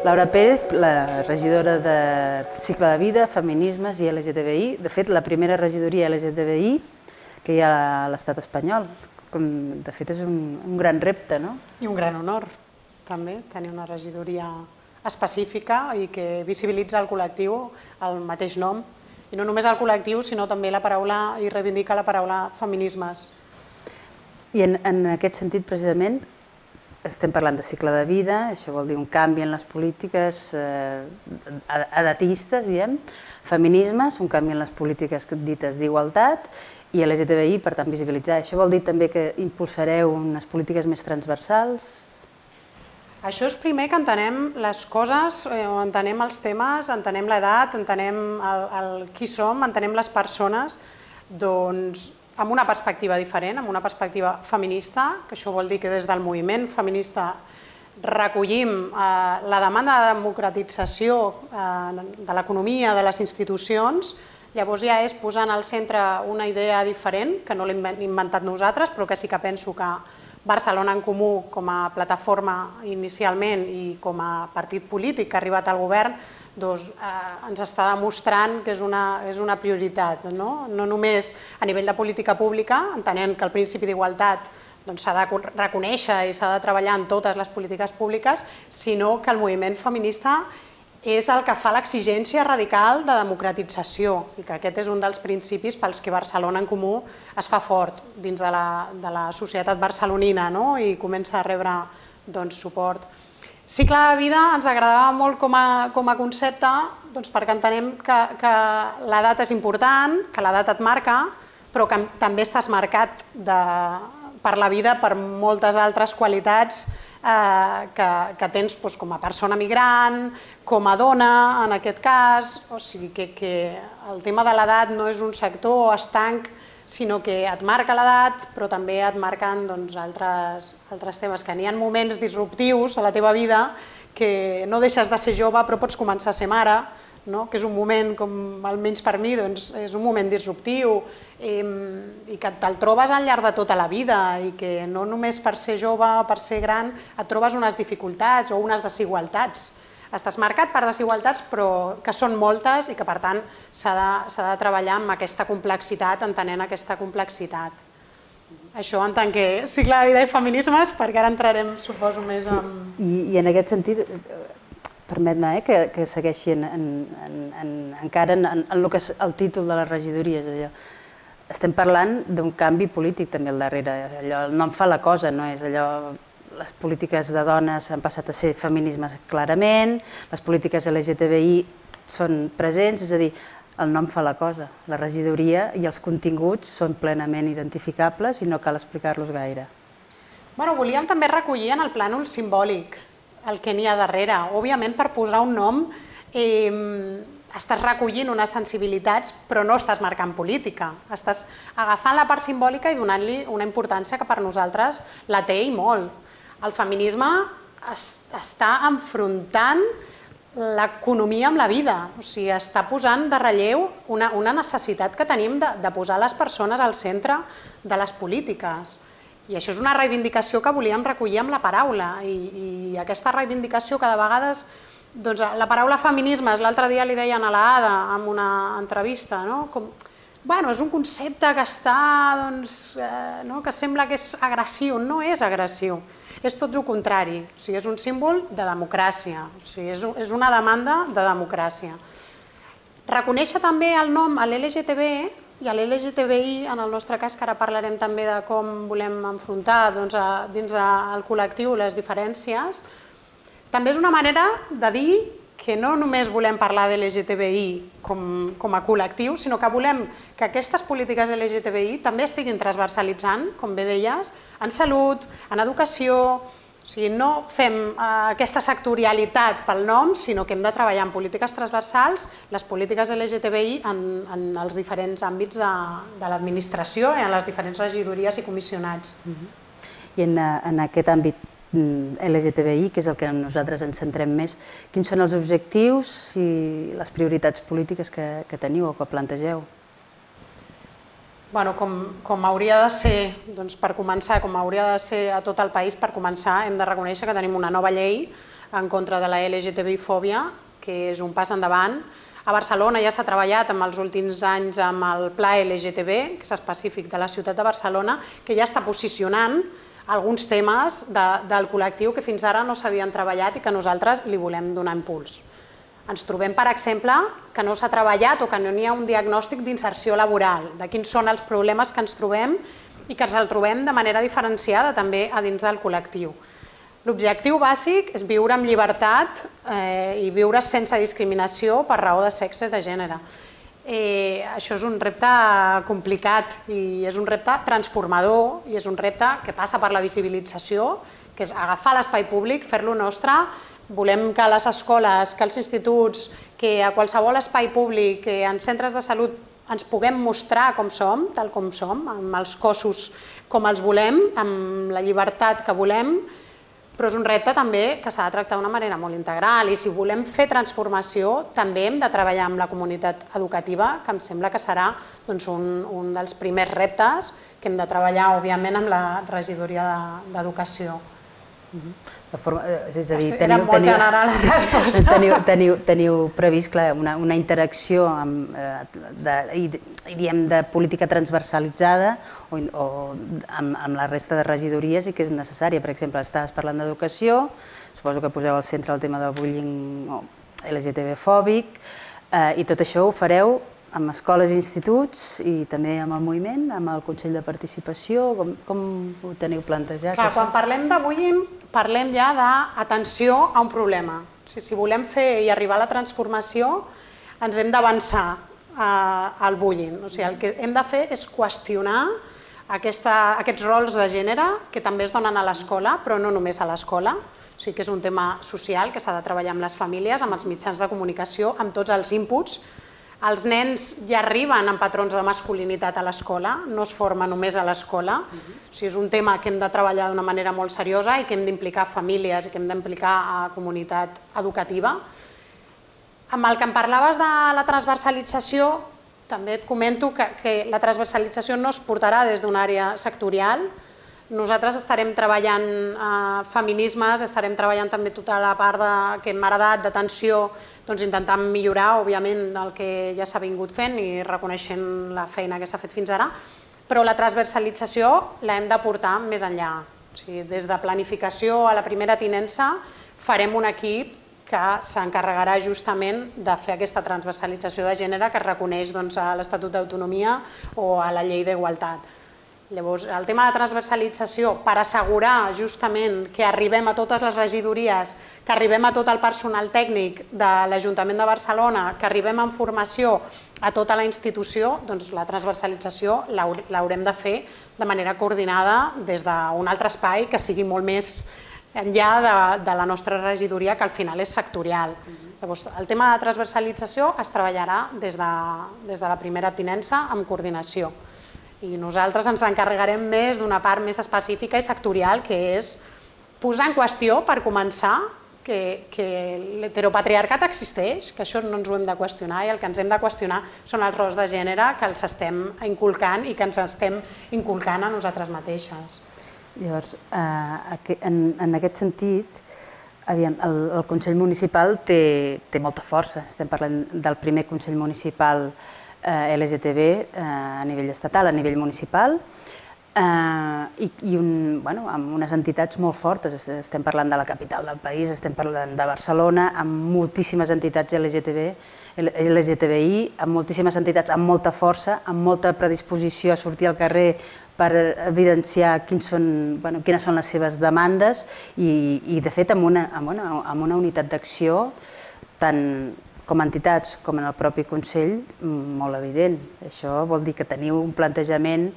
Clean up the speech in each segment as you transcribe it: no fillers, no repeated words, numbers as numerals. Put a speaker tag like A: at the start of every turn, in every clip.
A: Laura Pérez, la regidora de Cicle de Vida, Feminismes i LGTBI, de fet la primera regidoria LGTBI que hi ha a l'estat espanyol. De fet és un gran repte, no?
B: I un gran honor, també, tenir una regidoria específica i que visibilitza el col·lectiu el mateix nom, i no només el col·lectiu, sinó també la paraula, i reivindica la paraula feminismes.
A: I en aquest sentit, precisament, estem parlant de cicle de vida, això vol dir un canvi en les polítiques edatistes, diem, feminismes, un canvi en les polítiques dites d'igualtat, i LGTBI, per tant, visibilitzar. Això vol dir també que impulsareu unes polítiques més transversals?
B: Això és primer que entenem les coses, entenem els temes, entenem l'edat, entenem qui som, entenem les persones, doncs, amb una perspectiva diferent, amb una perspectiva feminista, que això vol dir que des del moviment feminista recollim la demanda de democratització de l'economia, de les institucions. Llavors ja és posar al centre una idea diferent, que no l'hem inventat nosaltres, però que sí que penso que Barcelona en Comú, com a plataforma inicialment i com a partit polític que ha arribat al govern, ens està demostrant que és una prioritat. No només a nivell de política pública, entenent que el principi d'igualtat s'ha de reconèixer i s'ha de treballar en totes les polítiques públiques, sinó que el moviment feminista és el que fa l'exigència radical de democratització i que aquest és un dels principis pels que Barcelona en Comú es fa fort dins de la societat barcelonina i comença a rebre suport. Cicle de vida ens agradava molt com a concepte perquè entenem que l'edat és important, que l'edat et marca, però que també estàs marcat per la vida per moltes altres qualitats que tens com a persona migrant, com a dona en aquest cas, o sigui que el tema de l'edat no és un sector estanc, sinó que et marca l'edat, però també et marquen altres temes, que n'hi ha moments disruptius a la teva vida que no deixes de ser jove però pots començar a ser mare, que és un moment, com almenys per mi, és un moment disruptiu i que te'l trobes al llarg de tota la vida i que no només per ser jove o per ser gran et trobes unes dificultats o unes desigualtats. Estàs marcat per desigualtats però que són moltes i que per tant s'ha de treballar amb aquesta complexitat, entenent aquesta complexitat. Això en tant que cicle de vida i feminismes, perquè ara entrarem, suposo, més en...
A: I en aquest sentit, permet-me que segueixi encara en el que és el títol de les regidories. Estem parlant d'un canvi polític també al darrere. El nom fa la cosa, no és allò... Les polítiques de dones han passat a ser feminismes clarament, les polítiques LGTBI són presents, és a dir, el nom fa la cosa. La regidoria i els continguts són plenament identificables i no cal explicar-los gaire.
B: Volíem també recollir en el plànol simbòlic el que n'hi ha darrere. Òbviament, per posar un nom estàs recollint unes sensibilitats però no estàs marcant política. Estàs agafant la part simbòlica i donant-li una importància que per nosaltres la té i molt. El feminisme està enfrontant l'economia amb la vida, o sigui, està posant de relleu una necessitat que tenim de posar les persones al centre de les polítiques. I això és una reivindicació que volíem recollir amb la paraula i aquesta reivindicació que de vegades, la paraula feminismes, l'altre dia li deien a l'Ada en una entrevista, és un concepte que està, que sembla que és agressiu, no és agressiu. És tot el contrari, és un símbol de democràcia, és una demanda de democràcia. Reconèixer també el nom a l'LGTB i a l'LGTBI, en el nostre cas, que ara parlarem també de com volem enfrontar dins el col·lectiu les diferències, també és una manera de dir que no només volem parlar de l'LGTBI com a col·lectiu, sinó que volem que aquestes polítiques LGTBI també estiguin transversalitzant, com bé deies, en salut, en educació. O sigui, no fem aquesta sectorialitat pel nom, sinó que hem de treballar en polítiques transversals, les polítiques LGTBI en els diferents àmbits de l'administració i en les diferents regidories i comissionats.
A: I en aquest àmbit LGTBI, que és el que nosaltres ens centrem més, quins són els objectius i les prioritats polítiques que teniu o que plantegeu?
B: Com hauria de ser, per començar, com hauria de ser a tot el país, per començar hem de reconèixer que tenim una nova llei en contra de la LGTBI-fòbia, que és un pas endavant. A Barcelona ja s'ha treballat en els últims anys amb el Pla LGTB, que és específic de la ciutat de Barcelona, que ja està posicionant alguns temes del col·lectiu que fins ara no s'havien treballat i que nosaltres li volem donar impuls. Ens trobem, per exemple, que no s'ha treballat o que no hi ha un diagnòstic d'inserció laboral, de quins són els problemes que ens trobem i que ens el trobem de manera diferenciada també a dins del col·lectiu. L'objectiu bàsic és viure amb llibertat i viure sense discriminació per raó de sexe i de gènere. Això és un repte complicat i és un repte transformador i és un repte que passa per la visibilització, que és agafar l'espai públic, fer-lo nostre. Volem que a les escoles, que als instituts, que a qualsevol espai públic, que en centres de salut ens puguem mostrar com som, tal com som, amb els cossos com els volem, amb la llibertat que volem, però és un repte també que s'ha de tractar d'una manera molt integral i si volem fer transformació també hem de treballar amb la comunitat educativa, que em sembla que serà un dels primers reptes que hem de treballar, òbviament, amb la regidoria d'Educació.
A: És a dir,
B: era molt general la resposta.
A: Teniu previst una interacció de política transversalitzada o amb la resta de regidories i que és necessària. Per exemple, estaves parlant d'educació, suposo que poseu al centre el tema del bullying LGTB-fòbic i tot això ho fareu amb escoles i instituts i també amb el moviment, amb el Consell de Participació, com ho teniu plantejat?
B: Clar, quan parlem de bullying parlem ja d'atenció a un problema. Si volem fer i arribar a la transformació ens hem d'avançar al bullying. O sigui, el que hem de fer és qüestionar aquests rols de gènere que també es donen a l'escola, però no només a l'escola. O sigui que és un tema social que s'ha de treballar amb les famílies, amb els mitjans de comunicació, amb tots els inputs. Els nens ja arriben amb patrons de masculinitat a l'escola, no es forma només a l'escola. O sigui, és un tema que hem de treballar d'una manera molt seriosa i que hem d'implicar famílies i que hem d'implicar a comunitat educativa. Amb el que em parlaves de la transversalització, també et comento que la transversalització no es portarà des d'una àrea sectorial. Nosaltres estarem treballant feminismes, estarem treballant també tota la part que hem heredat d'atenció, intentant millorar, òbviament, el que ja s'ha vingut fent i reconeixent la feina que s'ha fet fins ara, però la transversalització l'hem de portar més enllà. Des de planificació a la primera tinença farem un equip que s'encarregarà justament de fer aquesta transversalització de gènere que es reconeix a l'Estatut d'Autonomia o a la Llei d'Igualtat. Llavors, el tema de transversalització, per assegurar justament que arribem a totes les regidories, que arribem a tot el personal tècnic de l'Ajuntament de Barcelona, que arribem en formació a tota la institució, doncs la transversalització l'haurem de fer de manera coordinada des d'un altre espai que sigui molt més enllà de la nostra regidoria, que al final és sectorial. Llavors, el tema de transversalització es treballarà des de la primera tinença amb coordinació. I nosaltres ens encarregarem més d'una part més específica i sectorial, que és posar en qüestió, per començar, que l'heteropatriarcat existeix, que això no ens ho hem de qüestionar i el que ens hem de qüestionar són els rols de gènere que els estem inculcant i que ens estem inculcant a nosaltres mateixes.
A: Llavors, en aquest sentit, el Consell Municipal té molta força. Estem parlant del primer Consell Municipal LGTB a nivell estatal, a nivell municipal, i amb unes entitats molt fortes. Estem parlant de la capital del país, estem parlant de Barcelona, amb moltíssimes entitats LGTBI, amb moltíssimes entitats amb molta força, amb molta predisposició a sortir al carrer per evidenciar quines són les seves demandes i, de fet, amb una unitat d'acció tant com a entitats com en el propi Consell, molt evident. Això vol dir que teniu un plantejament,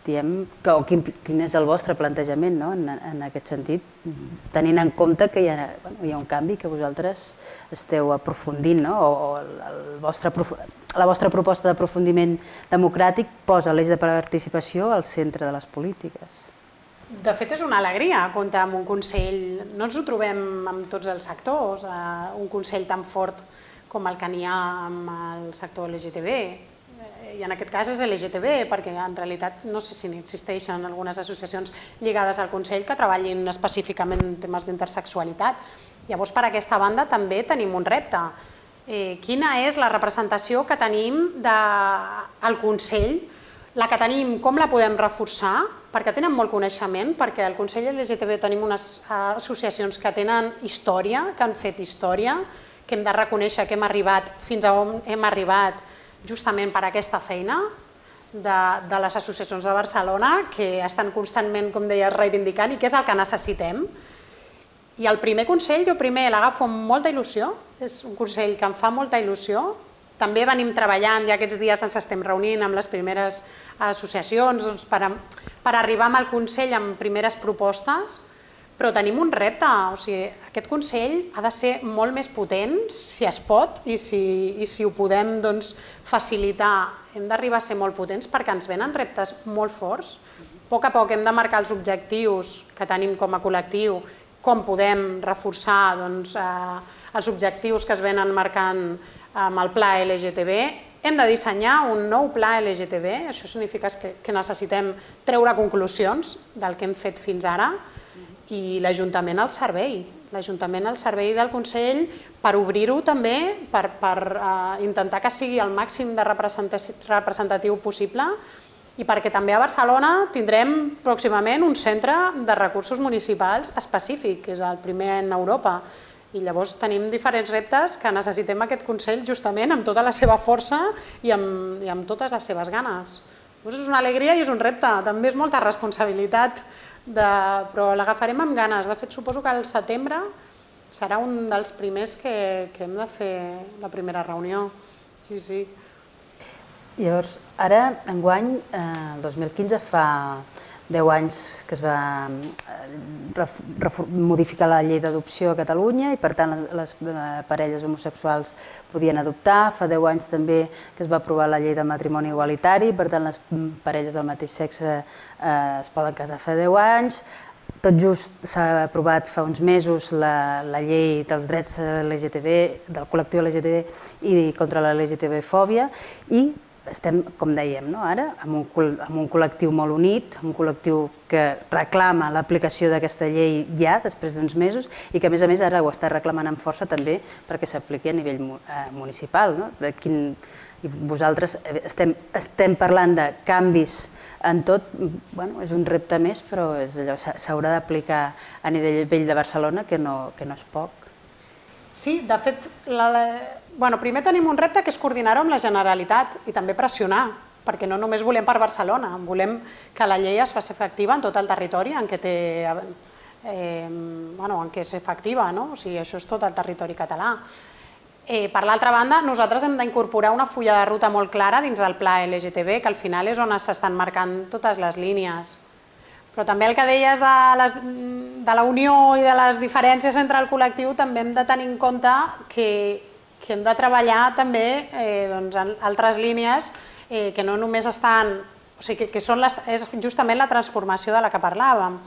A: quin és el vostre plantejament en aquest sentit, tenint en compte que hi ha un canvi que vosaltres esteu aprofundint, o la vostra proposta d'aprofundiment democràtic posa l'eix de participació al centre de les polítiques.
B: De fet, és una alegria comptar amb un Consell, no ens ho trobem amb tots els sectors, un Consell tan fort com el que n'hi ha amb el sector LGTB. i en aquest cas és LGTB, perquè en realitat no sé si existeixen algunes associacions lligades al Consell que treballin específicament en temes d'intersexualitat. Llavors, per aquesta banda també tenim un repte. Quina és la representació que tenim al Consell? La que tenim, com la podem reforçar? Perquè tenen molt coneixement, perquè al Consell LGTB tenim unes associacions que tenen història, que han fet història, que hem de reconèixer que hem arribat fins a on hem arribat justament per aquesta feina de les associacions de Barcelona, que estan constantment, com deies, reivindicant i que és el que necessitem. I el primer Consell, jo primer l'agafo amb molta il·lusió, és un Consell que em fa molta il·lusió. També venim treballant, ja aquests dies ens estem reunint amb les primeres associacions per arribar al Consell amb primeres propostes, però tenim un repte, o sigui, aquest Consell ha de ser molt més potent, si es pot, i si ho podem facilitar, hem d'arribar a ser molt potents perquè ens venen reptes molt forts. A poc hem de marcar els objectius que tenim com a col·lectiu, com podem reforçar els objectius que es venen marcant amb el pla LGTB. Hem de dissenyar un nou pla LGTB, això significa que necessitem treure conclusions del que hem fet fins ara, i l'Ajuntament al servei del Consell per obrir-ho també, per intentar que sigui el màxim de representatiu possible i perquè també a Barcelona tindrem pròximament un centre de recursos municipals específic, que és el primer en Europa. I llavors tenim diferents reptes que necessitem aquest Consell justament amb tota la seva força i amb totes les seves ganes. És una alegria i és un repte, també és molta responsabilitat, però l'agafarem amb ganes. De fet, suposo que al setembre serà un dels primers que hem de fer la primera reunió. Sí, sí.
A: Llavors, ara, enguany, el 2015, fa 10 anys que es va modificar la llei d'adopció a Catalunya i, per tant, les parelles homosexuals podien adoptar. Fa 10 anys també que es va aprovar la llei del matrimoni igualitari, per tant, les parelles del mateix sexe es poden casar fa 10 anys. Tot just s'ha aprovat fa uns mesos la llei dels drets LGTB, del col·lectiu LGTB i contra la LGTB-fòbia i estem, com dèiem, ara amb un col·lectiu molt unit, un col·lectiu que reclama l'aplicació d'aquesta llei ja, després d'uns mesos, i que a més ara ho està reclamant amb força també perquè s'apliqui a nivell municipal. Vosaltres estem parlant de canvis en tot, és un repte més, però s'haurà d'aplicar a nivell de Barcelona, que no és poc.
B: Sí, de fet, primer tenim un repte que és coordinar-ho amb la Generalitat i també pressionar, perquè no només volem per Barcelona, volem que la llei es faci efectiva en tot el territori en què és efectiva, o sigui, això és tot el territori català. Per l'altra banda, nosaltres hem d'incorporar una fulla de ruta molt clara dins del pla LGTB, que al final és on s'estan marcant totes les línies. Però també el que deies de la unió i de les diferències entre el col·lectiu, també hem de tenir en compte que hem de treballar també altres línies que no només estan... O sigui, que és justament la transformació de la que parlàvem.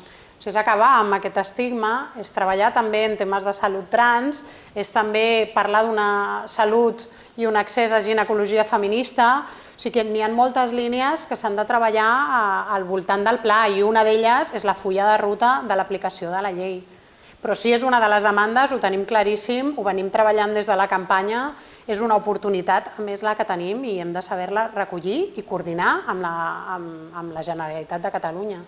B: És acabar amb aquest estigma, és treballar també en temes de salut trans, és també parlar d'una salut i un accés a ginecologia feminista. O sigui que n'hi ha moltes línies que s'han de treballar al voltant del pla i una d'elles és la fulla de ruta de l'aplicació de la llei. Però sí, és una de les demandes, ho tenim claríssim, ho venim treballant des de la campanya, és una oportunitat, a més, la que tenim i hem de saber-la recollir i coordinar amb la Generalitat de Catalunya.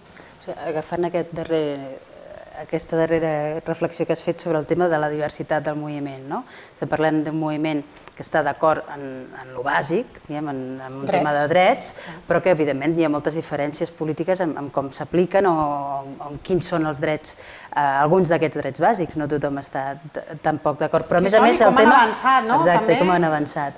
A: Agafant aquesta darrera reflexió que has fet sobre el tema de la diversitat del moviment, estem parlant d'un moviment que està d'acord en lo bàsic, en un tema de drets, però que evidentment hi ha moltes diferències polítiques en com s'apliquen o en quins són els drets, alguns d'aquests drets bàsics, no tothom està tampoc d'acord, però a més el tema...
B: Com han avançat, no?
A: Exacte, com han avançat.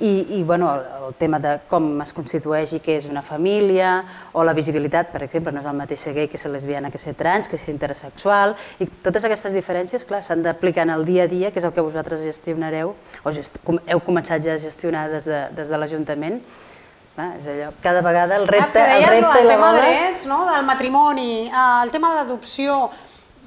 A: I el tema de com es constitueix i què és una família, o la visibilitat, per exemple, no és el mateix ser gay que ser lesbiana, que ser trans, que ser intersexual, i totes aquestes diferències, clar, s'han d'aplicar en el dia a dia, que és el que vosaltres gestionareu, o heu començat ja a gestionar des de l'Ajuntament. És allò, cada vegada el repte i la bola...
B: El tema de drets, del matrimoni, el tema d'adopció,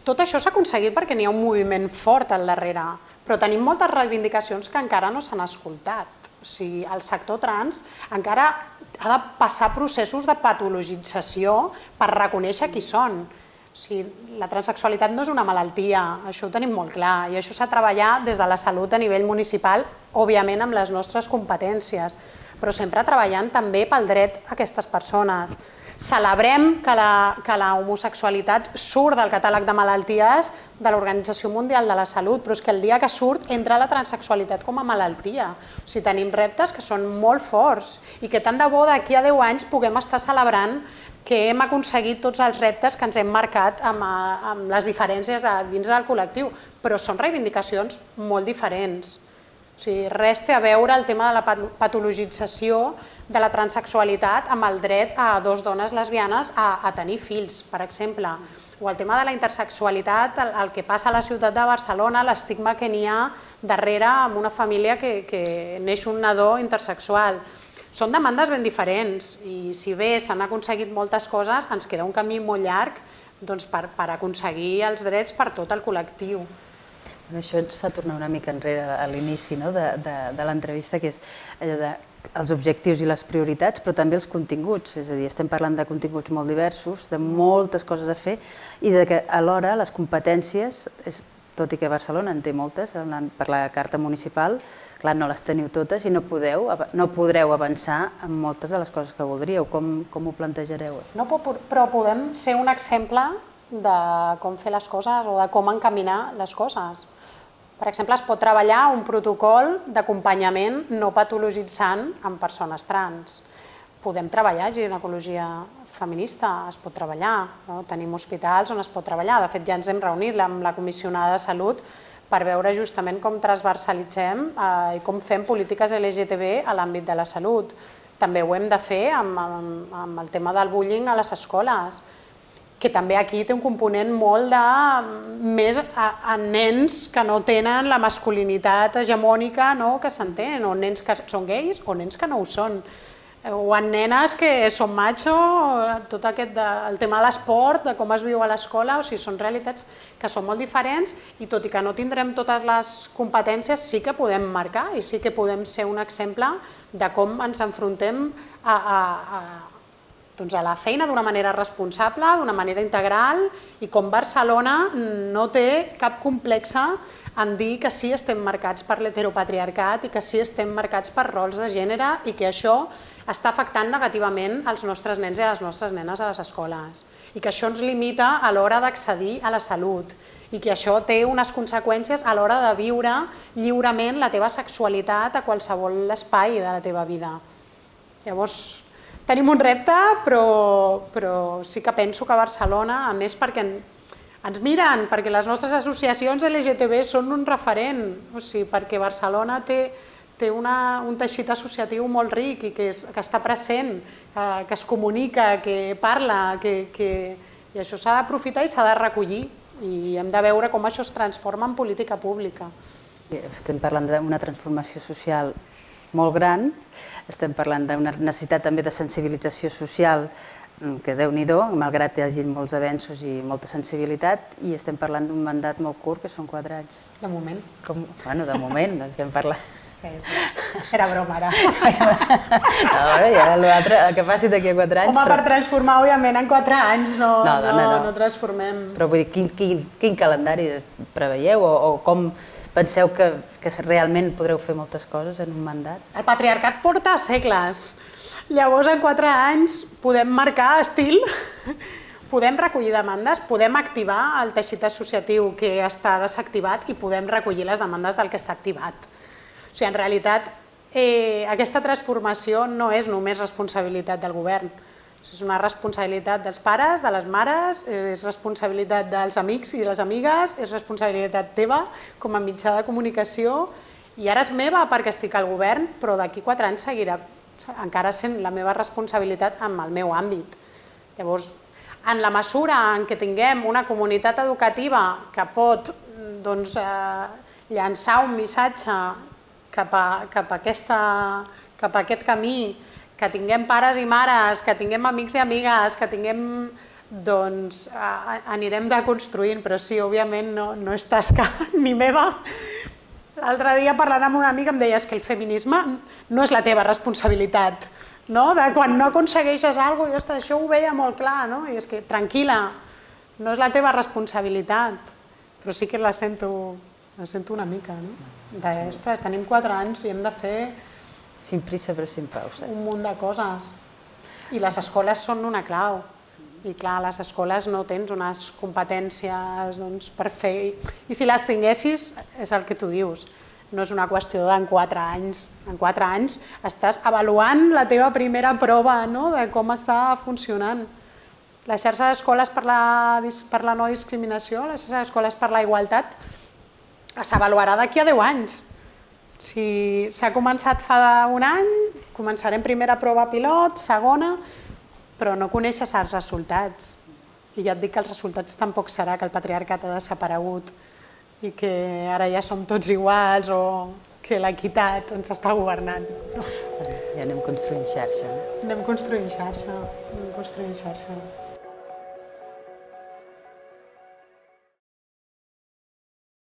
B: tot això s'ha aconseguit perquè n'hi ha un moviment fort al darrere, però tenim moltes reivindicacions que encara no s'han escoltat. O O sigui, el sector trans encara ha de passar processos de patologització per reconèixer qui són. O sigui, la transsexualitat no és una malaltia, això ho tenim molt clar, i això s'ha de treballar des de la salut a nivell municipal, òbviament amb les nostres competències, però sempre treballant també pel dret a aquestes persones. Celebrem que la homosexualitat surt del catàleg de malalties de l'Organització Mundial de la Salut, però és que el dia que surt entra la transsexualitat com a malaltia. O sigui, tenim reptes que són molt forts i que tant de bo d'aquí a 10 anys puguem estar celebrant que hem aconseguit tots els reptes que ens hem marcat amb les diferències dins del col·lectiu, però són reivindicacions molt diferents. O sigui, res té a veure el tema de la patologització de la transsexualitat amb el dret a dues dones lesbianes a tenir fills, per exemple. O el tema de la intersexualitat, el que passa a la ciutat de Barcelona, l'estigma que n'hi ha darrere en una família que neix un nadó intersexual. Són demandes ben diferents i si bé s'han aconseguit moltes coses, ens queda un camí molt llarg per aconseguir els drets per tot el col·lectiu.
A: Això ens fa tornar una mica enrere a l'inici de l'entrevista, que és allò dels objectius i les prioritats, però també els continguts. És a dir, estem parlant de continguts molt diversos, de moltes coses a fer i que alhora les competències, tot i que Barcelona en té moltes, per la carta municipal, clar, no les teniu totes i no podreu avançar en moltes de les coses que voldríeu. Com ho plantejareu?
B: No, però podem ser un exemple de com fer les coses o de com encaminar les coses. Per exemple, es pot treballar un protocol d'acompanyament no patologitzant en persones trans. Podem treballar ginecologia feminista, es pot treballar. Tenim hospitals on es pot treballar. De fet, ja ens hem reunit amb la comissionada de Salut per veure justament com transversalitzem i com fem polítiques LGTB a l'àmbit de la salut. També ho hem de fer amb el tema del bullying a les escoles, que també aquí té un component molt més a nens que no tenen la masculinitat hegemònica que s'entén, o nens que són gais o nens que no ho són, o en nenes que són macho, tot el tema de l'esport, de com es viu a l'escola, o sigui, són realitats que són molt diferents i tot i que no tindrem totes les competències, sí que podem marcar i sí que podem ser un exemple de com ens enfrontem a la feina d'una manera responsable, d'una manera integral i com Barcelona no té cap complexe en dir que sí estem marcats per l'heteropatriarcat i que sí estem marcats per rols de gènere i que això està afectant negativament els nostres nens i les nostres nenes a les escoles i que això ens limita a l'hora d'accedir a la salut i que això té unes conseqüències a l'hora de viure lliurement la teva sexualitat a qualsevol espai de la teva vida. Llavors, tenim un repte, però sí que penso que Barcelona, a més perquè ens miren, perquè les nostres associacions LGTB són un referent, o sigui, perquè Barcelona té un teixit associatiu molt ric i que està present, que es comunica, que parla, i això s'ha d'aprofitar i s'ha de recollir i hem de veure com això es transforma en política pública.
A: Estem parlant d'una transformació social molt gran, estem parlant d'una necessitat també de sensibilització social que Déu-n'hi-do, malgrat que hi hagi molts avenços i molta sensibilitat, i estem parlant d'un mandat molt curt, que són 4 anys.
B: De moment.
A: Bueno, de moment, estem parlant.
B: Sí, era broma, ara.
A: L'altre, que passi d'aquí a 4 anys...
B: Home, per transformar, òbviament, en 4 anys no transformem.
A: Però vull dir, quin calendari preveieu o com penseu que realment podreu fer moltes coses en un mandat?
B: El patriarcat porta segles. Llavors, en 4 anys podem marcar estil, podem recollir demandes, podem activar el teixit associatiu que està desactivat i podem recollir les demandes del que està activat. O sigui, en realitat, aquesta transformació no és només responsabilitat del govern. És una responsabilitat dels pares, de les mares, és responsabilitat dels amics i les amigues, és responsabilitat teva com a mitjà de comunicació i ara és meva perquè estic al govern, però d'aquí 4 anys seguirà encara sent la meva responsabilitat en el meu àmbit. Llavors, en la mesura en què tinguem una comunitat educativa que pot llançar un missatge cap a aquest camí, que tinguem pares i mares, que tinguem amics i amigues, que tinguem... doncs anirem deconstruint, però sí, òbviament no és tasca ni meva L'altre dia parlant amb una amiga em deies que el feminisme no és la teva responsabilitat, no? De quan no aconsegueixes alguna cosa, això ho veia molt clar, no? I és que, tranquil·la, no és la teva responsabilitat, però sí que la sento una mica, no? Ostres, tenim 4 anys i hem de fer
A: Sin prisa però sin pausa.
B: un munt de coses. I les escoles són una clau. I clar, a les escoles no tens unes competències per fer... I si les tinguessis, és el que tu dius, no és una qüestió d'en 4 anys. En 4 anys estàs avaluant la teva primera prova de com està funcionant. La xarxa d'escoles per la no discriminació, la xarxa d'escoles per la igualtat, s'avaluarà d'aquí a 10 anys. Si s'ha començat fa un any, començarem primera prova pilot, segona, però no coneixes els resultats. I ja et dic que els resultats tampoc serà que el patriarcat ha desaparegut i que ara ja som tots iguals o que l'equitat ens està governant.
A: Ja anem construint xarxa.
B: Anem construint xarxa, anem construint xarxa.